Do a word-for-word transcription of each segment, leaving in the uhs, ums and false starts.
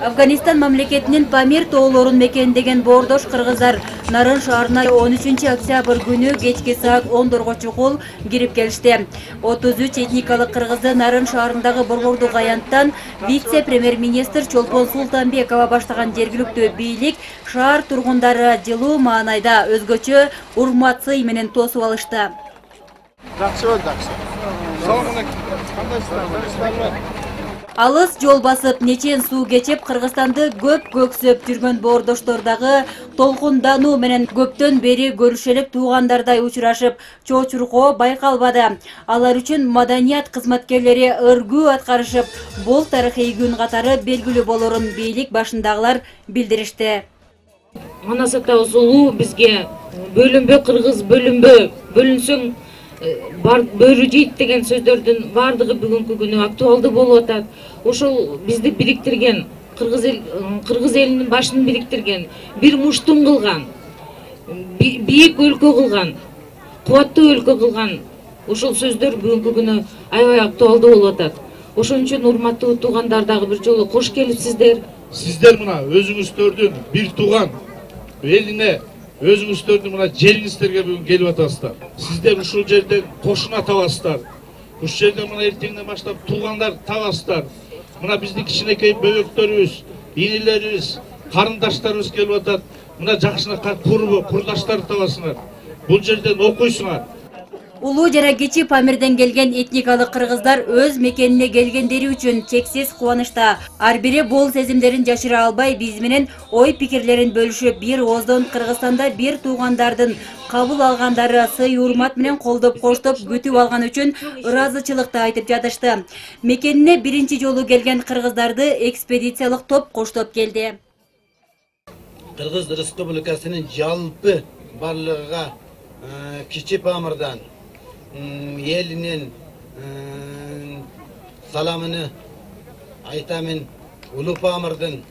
Афганистан мамлекетинин Памир тоолорун мекендеген боордош кыргыздар Нарын шаарына он үчүнчү октябрь күнү кечки саат ондорго чукул кирип келишти. отуз үч этникалык кыргызды Нарын шаарындагы борбордук аянттан вице-премьер-министр Чолпон Султанбекова баштаган жергиликтүү бийлик шаар тургундары жылуу маанайда өзгөчө урмат сый менен тосуп алышты. Жакшы болду, жакшы. Салам алейкум. Кандайсыздар? Алыс жол басып, нечен суу кечип, Кыргызстанды көп көксөп жүргөн боордоштор дагы толкундануу менен көптөн бери көрүшөлүк туугандардай учурашып, чоочуркоо байкалбады. Алар үчүн маданият кызматкерлери өргүү аткарышып, бул тарыхый күн катары белгилүү болорун бийлик башындагылар билдиришти. Манасата усулу бизге бөлүнбө кыргыз бөлүнбө, бөлүнсөң бар бөрү жейт деген сөздөрдүн бардыгы бүгүнкү күнү актуалдуу болуп атат. Ошол бизди бириктирген, кыргыз эл кыргыз элинин башын бириктирген, бир муштум кылган, бийик өлкө кылган, кубаттуу өлкө кылган ошол сөздөр бүгүнкү күнү аябай актуалдуу болуп атат. Ошон үчүн урматтуу туугандар дагы бир жолу кош келипсиздер. Сиздер мына өзүңүздөрдүн бир тууган элине өзүңүздөрдүн мына жериңиздерге бүгүн келип атасыздар. Сиздер ушул жерде кошуна табасыздар. Ушул жерде мына эртеңден баштап туугандар табасыздар. Мына биздин кичинекей бөбөктөрүбүз, инилерибиз, карындаштарыбыз келип атат. Мына жакшынакай курдаштар табасыңар. Бул жерден окуйсуңар. Улуу жана кичи Памирден келген этникалык кыргыздар өз мекенине келгендери үчүн чексиз кубанычта. Ар бири бул сезимдерин жашыра албай, биз менен ой пикирлерин бөлүшүп, бир ооздон Кыргызстанда бир туугандардын кабыл алгандары сый урмат менен колдоп коштоп күтүп алган үчүн ыраазычылыкты айтып жатышты. Мекенине биринчи жолу келген кыргыздарды экспедициялык топ коштоп келди. Кыргыз Республикасынын жалпы барлыгыга Кичи Памирдан элинин саламыны айтамын. Улуу Памирдин,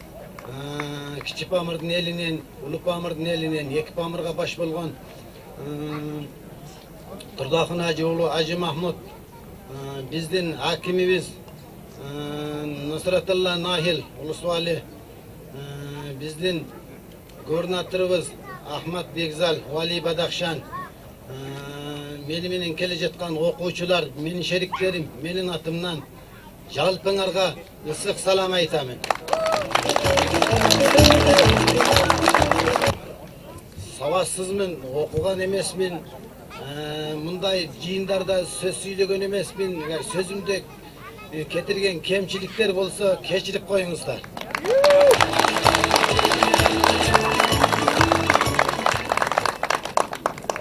Кичи Памирдин элинен, Улуу Памирдин элинен эки Памирга баш болгон Турдахын Ажы уулу Ажы Махмуд, биздин акимибиз Нусратулла Нахил Улусвали, биздин губернаторубуз Ахмат Бекзал, Вали Бадахшан, мени менен келе жаткан окуучулар, менин шериктерим, менин атымдан жалпыңарга ысык салам айтамын. Сабатсызмын, окуган эмесмин, мындай жыйындарда сөз сүйлөгөн эмесмин. Сөзүмдө кетирген кемчиликтер болсо кечирип коюңуздар.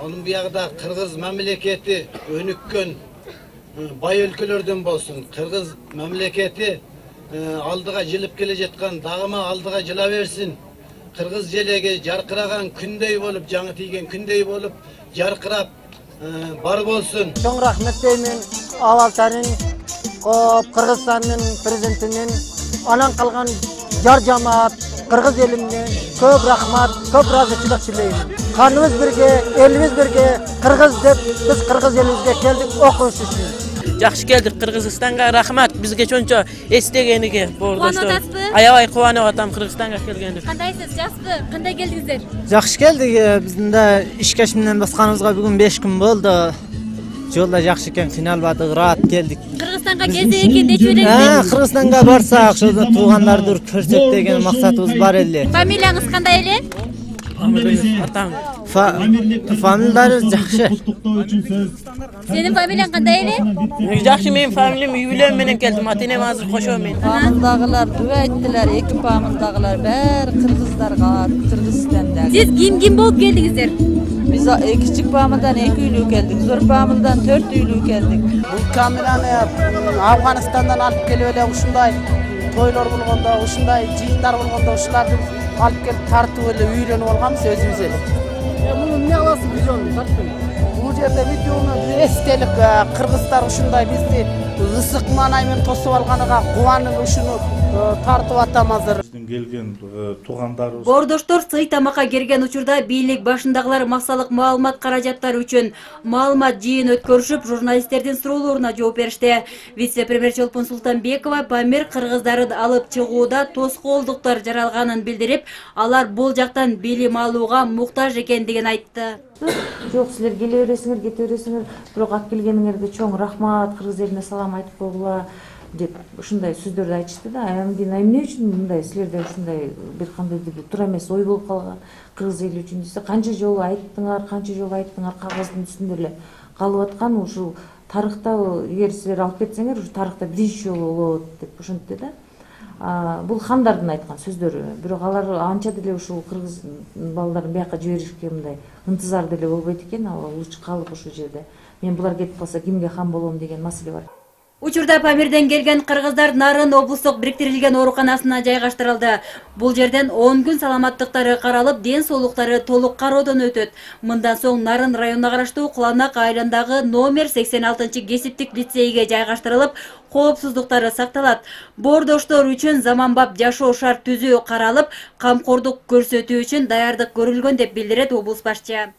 Onun buyagda Kırgız memleketi önükön bay өлкөлөрдөн болsun. Kırgız memleketi aldığa jılıp kele жаткан dağıma aldığa jıla versin. Kırgız jelege jarkıragan kündey bolup, жаңы тийген kündey bolup, jarkırap бар болsun. Чоң рахмет деймин Алалтанын, Кыргызстандын президентинин, анан калган жар жамаат, Кыргыз элине көп рахмат, көп ыраазычылык тилеймин. Kanımız birge, elimiz birge, Kırgız dep, biz Kırgız elimizge keldik, okuş üçün. Жақсы келдік Қырғызстанға, рахмат. Бізге чончо эстегениге боордоштор. Аябай кубанып атам Кыргызстанга келгенде. Кандайсыз, жақсы? Кандай келдиңиздер? Жақсы келдик. Биздин да ишкеш менен басканыбызга бүгүн беш күн болду. Жолда жакшы экен, кыйналбадык, раат келдик. Кыргызстанга келсе экен дечү элеңиз? Кыргызстанга барсак, ошондо туугандарды көрсөк деген максатыбыз бар эле. Фамилияңыз кандай эле? Атам. Фамилиялары жакшы. Сенин фамилияң кандай эле? Жакшы, менин фамилиям Юбилем менен келдим. Атенем азыр кошо мен. Памылдагылар дуа айттылар, эки памылдагылар баары кыргыздарга, Кыргызстанда. Сиз ким-ким болуп келдиңиздер? Биз кичик памылдан эки үйлүү келдик, зор памылдан төрт үйлүү келдик. Бул камераны Афганистандан алып келип эле ушундай тойлор болгондо, ушундай жыйындар болгондо ушуларды алып келип тартып эле үйрөнүп алганбыз өзүбүз эле. Муну эмне кыласыз видеону тартып? Бул жерде видеону эстелик кыргыздар ушундай бизди ысык маанай менен тосуп алганыга кубанып ушуну тартып атам азыр. жерден келген туугандарыбыз. Боордоштор сый тамакка келген учурда бийлик башындагылар максалык маалымат каражаттары үчүн маалымат жыйын өткөрүшүп, журналисттердин суроолоруна жооп беришти. Вице-премьер Чолпон Султанбекова Памир кыргыздарын алып чыгууда тоскоолдуктар жаралганын билдирип, алар бул жактан билим алууга муктаж экендигин айтты. Жок, силер келе бересиңер, кете бересиңер, бирок алып келгениңерге чоң рахмат, кыргыз элине салам айтып койгула деп ушундай сөздөрдү айтышты да. Эмне эмне үчүн мындай силерде ушундай бир кандай туура эмес ой болуп калган кыргыз эли үчүн десе, канча жолу айттыңар, канча жолу айттыңар, кагаздын үстүндө эле калып аткан ушул тарыхта, эгер силер алып кетсеңер, ушу тарыхта биринчи жолу болот деп ошентти да. Бул хандардын айткан сөздөрү. Бирок алар анча деле ушул кыргыз балдарын бияка жиберишке мындай ынтызар деле болбойт экен, ал лучше калып ошол жерде. Мен булар кетип калса кимге хан болом деген маселе бар. Учурда Памирден келген кыргыздар Нарын облустук бириктирилген ооруканасына жайгаштырылды. Бул жерден он күн саламаттыктары каралып, ден соолуктары толук кароодон өтөт. Мындан соң Нарын районуна караштуу Куланак айылындагы номер сексен алтынчы кесиптик лицейге жайгаштырылып, коопсуздуктары сакталат. Боордоштор үчүн заманбап жашоо шарт түзүү каралып, камкордук көрсөтүү үчүн даярдык көрүлгөн деп билдирет облус башчы.